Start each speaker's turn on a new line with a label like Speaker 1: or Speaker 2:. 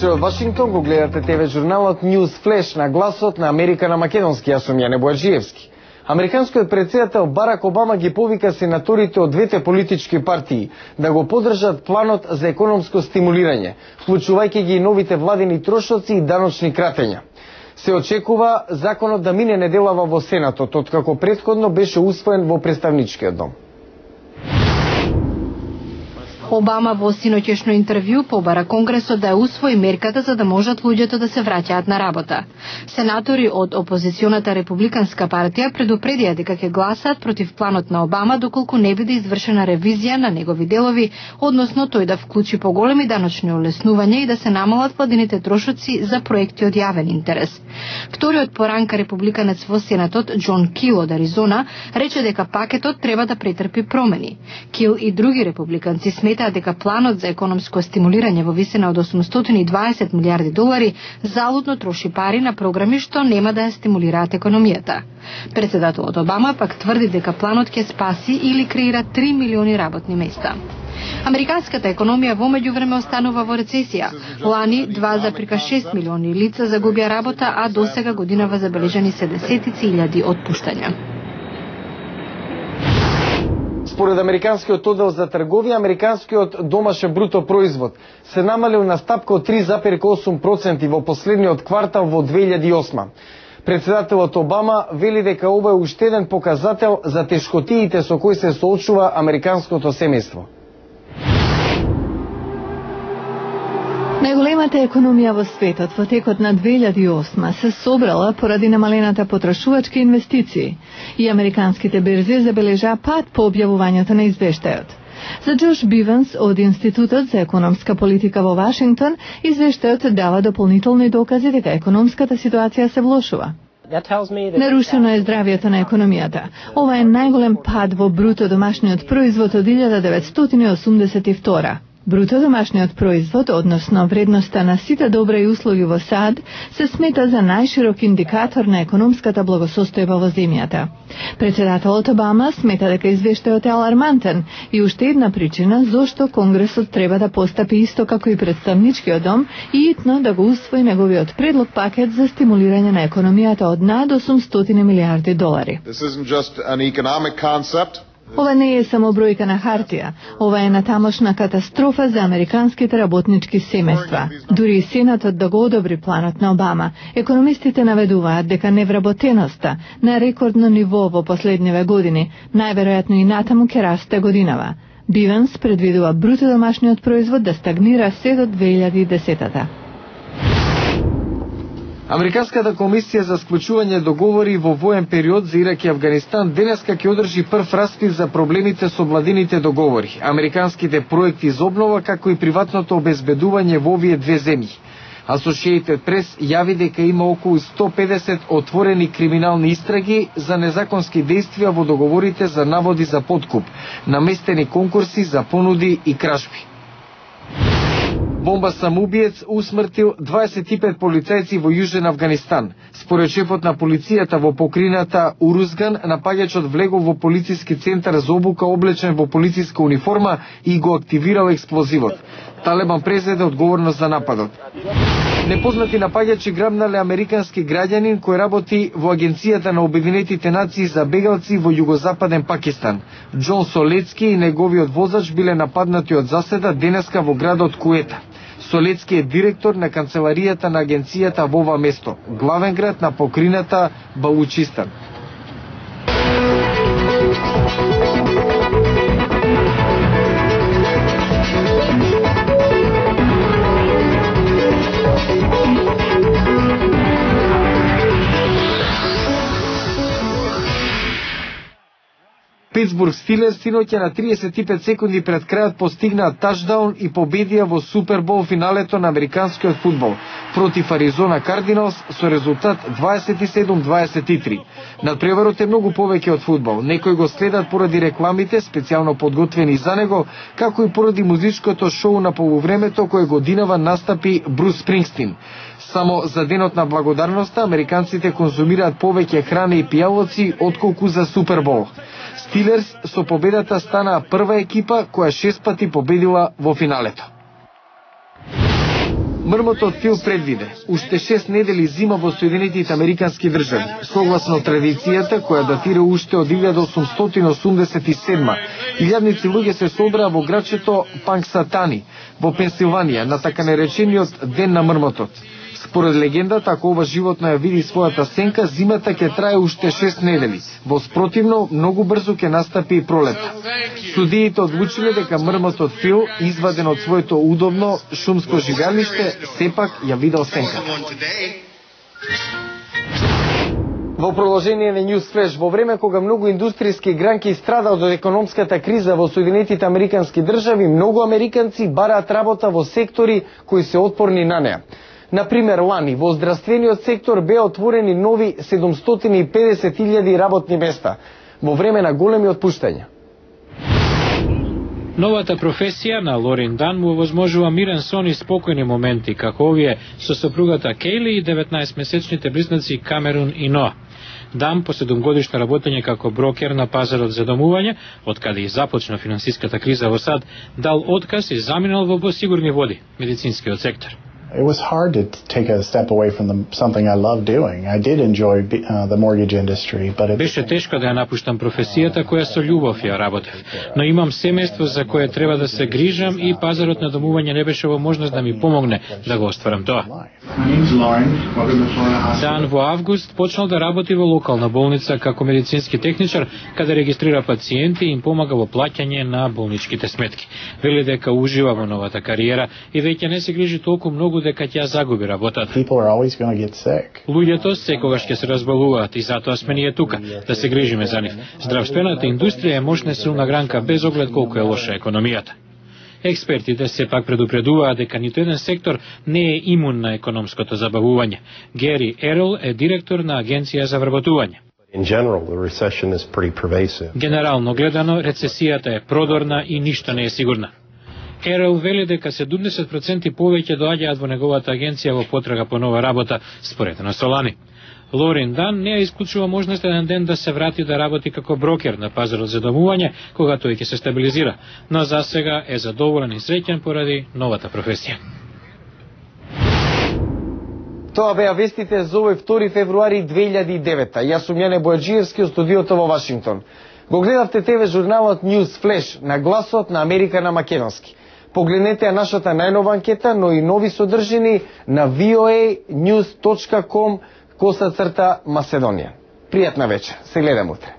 Speaker 1: вечер од Вашингтон, го гледате ТВ журналот News Flash на гласот на Америка на македонски. Јас сум Јане Бојаджиевски. Американскиот председател Барак Обама ги повика сенаторите од двете политички партии да го поддржат планот за економско стимулирање, вклучувајќи ги новите владини трошоци и даночни кратења. Се очекува законот да мине неделава во Сенатот, откако претходно беше усвоен во Представничкиот дом.
Speaker 2: Обама во синоќешно интервју побара Конгресот да ја усвои мерката за да можат луѓето да се враќаат на работа. Сенатори од опозиционата републиканска партија предупредија дека ќе гласаат против планот на Обама доколку не биде извршена ревизија на негови делови, односно тој да вклучи поголеми даночни олеснувања и да се намалат владините трошоци за проекти од јавен интерес. Вториот поранка републиканец во Сенатот, Џон Кил од Аризона, рече дека пакетот треба да претрпи промени. Кил и други републиканци сметаат дека планот за економско стимулирање во висина од 820 милиарди долари залудно троши пари на програми што нема да ја стимулираат економијата. Председателот Обама пак тврди дека планот ќе спаси или креира 3 милиони работни места. Американската економија во меѓувреме останува во рецесија. Лани 2,6 милиони лица загубија работа, а досега годинава забележани се десетици илјади отпуштања.
Speaker 1: Според Американскиот оддел за трговија, американскиот домашен бруто производ се намалил на стапка од 3,8% во последниот квартал во 2008. Председателот Обама вели дека ова е уште еден показател за тешкотиите со кои се соочува американското семејство.
Speaker 3: Најголемата економија во светот во текот на 2008 се собрала поради намалената потрошувачки инвестиции и американските берзи забележаа пад по објавувањето на извештајот. За Джош Биванс од Институтот за економска политика во Вашингтон, извештајот дава дополнителни докази дека економската ситуација се влошува. Нарушено е здравјето на економијата. Ова е најголем пад во бруто домашниот производ од 1982. Бруто домашниот производ, односно вредноста на сите добри услуги во САД, се смета за најширок индикатор на економската благосостојба во земјата. Председателот Обама смета дека извештајот е алармантен и уште една причина зошто Конгресот треба да постапи исто како и Представничкиот дом и итно да го усвои неговиот предлог пакет за стимулирање на економијата од над 800 милиарди долари. Ова не е само бројка на хартија, ова е натамошна катастрофа за американските работнички семејства. Дури и Сенатот да го одобри планот на Обама, економистите наведуваат дека невработеноста на рекордно ниво во последниве години, најверојатно и натаму ќе расте годинава. Биванс предвидува бруто домашниот производ да стагнира се до 2010-та.
Speaker 1: Американската комисија за склучување договори во воен период за Ирак и Авганистан денеска ќе одржи прв распит за проблемите со владините договори, американските проекти за обнова, како и приватното обезбедување во овие две земји. Associated Press јави дека има околу 150 отворени криминални истраги за незаконски действија во договорите за наводи за подкуп, наместени конкурси за понуди и кражби. Бомба самоубиец усмртил 25 полицајци во Јужен Авганистан. Според шефот на полицијата во покрината Урузган, напаѓачот влегол во полициски центар за обука облечен во полициска униформа и го активирал експлозивот. Талебан презеде одговорност за нападот. Непознати напаѓачи грабнале американски граѓанин кој работи во Агенцијата на Обединетите нации за бегалци во југозападен Пакистан. Џон Солецки и неговиот возач биле нападнати од заседа денеска во градот Куета. Солецки е директор на канцеларијата на агенцијата во ова место, главен град на покрината Балучистан. Питсбург Стилерс синоќа на 35 секунди пред крајот постигнаа тачдаун и победија во Супербол финалето на американскиот фудбал против Аризона Кардиналс со резултат 27-23. Надпреварот е многу повеќе од фудбал. Некои го следат поради рекламите, специјално подготвени за него, како и поради музичкото шоу на полувремето кое годинава настапи Брус Спрингстин. Само за денот на благодарноста американците конзумираат повеќе храна и пијалоци отколку за Супербол. Стилерс со победата станаа прва екипа која 6 пати победила во финалето. Мрмотот Фил предвиде уште 6 недели зима во Соединетите Американски држави, согласно традицијата која датира уште од 1887. Илјадници луѓе се собраа во градчето Панксатани во Пенсилванија на така наречениот Ден на мрмотот. Според легендата, ако ова животно ја види својата сенка, зимата ќе трае уште 6 недели. Во спротивно, многу брзо ќе настапи и пролета. Судиите одлучиле дека мрмотот Фил, изваден од своето удобно шумско живеалиште, сепак ја видел сенката. Во продолжение на News Flash, во време кога многу индустријски гранки страдаат од економската криза во Соединетите Американски држави, многу американци бараат работа во сектори кои се отпорни на неа. Например, лани во здравствениот сектор беа отворени нови 750.000 работни места во време на големи отпуштања.
Speaker 4: Новата професија на Лорин Дан му овозможува мирен сон и спокојни моменти, како овие со сопругата Кейли и 19-месечните близнаци Камерун и Ноа. Дан, по 7-годишно работење како брокер на пазарот за домување, од каде и започна финансиската криза во САД, дал отказ и заминал во посигурни води, медицинскиот сектор.
Speaker 5: It was hard to take a step away from something I love doing. I did enjoy the mortgage industry, but
Speaker 4: беше тешко да ја напуштам професијата која со љубов ја работев, но имам семејство за кое треба да се грижам и пазарот на домување не беше во можност да ми помогне да го остварам тоа. Дан во август почнал да работи во локална болница како медицински техничар, каде регистрира пациенти и им помага во плаќање на болничките сметки. Вели дека ужива во новата кариера и веќе не се грижи толку многу дека ќе загуби работата. Луѓето секогаш ќе се разболуваат и затоа сме ние тука, да се грижиме за нив. Здравствената индустрија е мощна силна гранка без оглед колку е лоша економијата. Експертите сепак предупредуваат дека ниту еден сектор не е имун на економското забавување. Гери Ерол е директор на Агенција за вработување. Генерално гледано, рецесијата е продорна и ништо не е сигурна. Ерол вели дека 70% повеќе доаѓаат во неговата агенција во потрага по нова работа, споредно со лани. Лорин Дан не ја исклучува можност еден ден да се врати да работи како брокер на пазарот за домување, кога тој ќе се стабилизира, но за сега е задоволен и среќен поради новата професија.
Speaker 1: Тоа беа вестите за овој 2 февруари 2009. Јас сум Јане Бојаджиевски од студиото во Вашингтон. Го гледавте ТВ журналот News Flash на гласот на Америка на македонски. Погледнете ја нашата најнова анкета, но и нови содржини на voanews.com /Macedonија. Пријатна вечер. Се гледам утре.